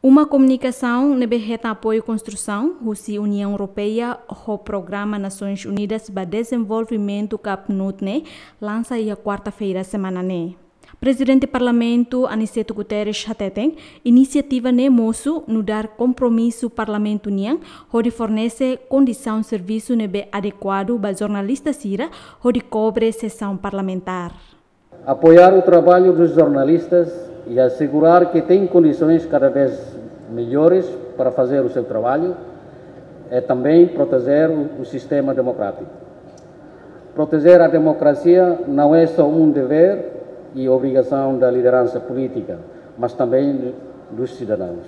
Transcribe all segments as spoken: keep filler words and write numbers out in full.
Uma komunikasaun ne'ebé hetan apoiu konstrusaun husi Uniaun Europeia ho Programa Nasoins Unidas ba Dezenvolvimentu ka PNUD ne'e lansa iha kuarta-feira semana ne'e. Prezidente Parlamentu Aniceto Guterres hateten, inisiativa ne'e mosu nu'udar kompromisu Parlamentu nian hodi fornese kondisaun servisu ne'ebé adekuadu ba jornalista sira hodi kobre sesaun parlamentár. Apoiar o trabalho dos jornalistas e assegurar que têm condições cada vez melhores para fazer o seu trabalho é também proteger o, o sistema democrático. Proteger a democracia não é só um dever e obrigação da liderança política, mas também dos cidadãos.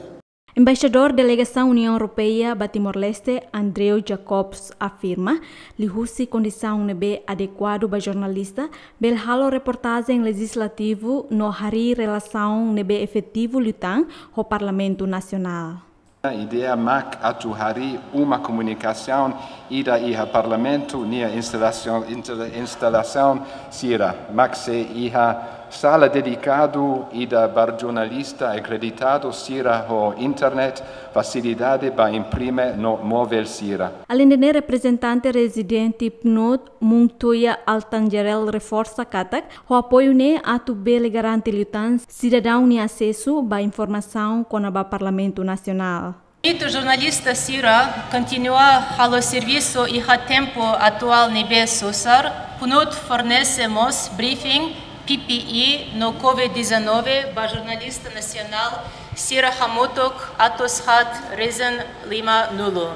Embaixadór Delegasaun Uniaun Europeia ba Timor-Leste, Andrew Jacobs, afirma, liuhusi kondisaun ne'ebé adekuadu ba jornalista, bele halo reportajen lejizlativu no harii relasaun ne'ebé efetivu liután ho Parlamentu Nasionál. Ideia mak atu harii uma komunikasaun ida iha Parlamentu nia instalasaun, insta-, instalasaun sira, mak sei iha sala dedikadu ida ba jornalista akreditadu sira ho internet, fasilidade ba imprime no móvel sira. Aleinde ne'e, reprezentante rezidente PNUD, Montoya Altangerel, reforsa katak ho apoiu ne'e atu bele garante liután sidadaun nia asesu ba informasaun kona-ba Parlamentu Nasionál. Atu jornalista sira kontinua halo servisu iha tempu atuál ne'ebé susar, PNUD fornese mós briefing, P P E no COVID dezanove ba jornalista nasionál sira hamutuk atus haat resin lima nulu.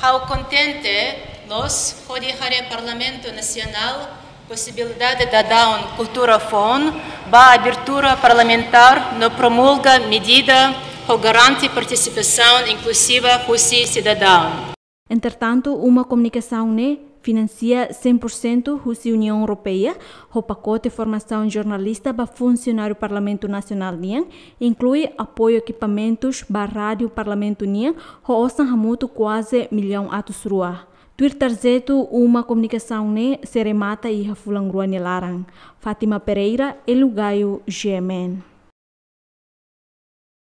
Ha'u kontente loos hodi haree Parlamentu Nasionál posibilidade daudaun kultura foun ba abertura parlamentár no promulga medida hodi garante partisipasaun inkluziva husi sidadaun. Entretantu, uma komunikasaun ne'e finansia cem por cento husi Uniaun Europeia, ho pakote formasaun jornalista ba funsionáriu Parlamentu Nasionál nian, inklui apoiu ekipamentus ba rádiu Parlamentu nian, ho osan hamutuk kuaze millaun atus rua. Tuir tarjetu, uma komunikasaun ne'e sei remata iha fulan rua nia laran. Fátima Pereira, Hélio Gaio, G M N.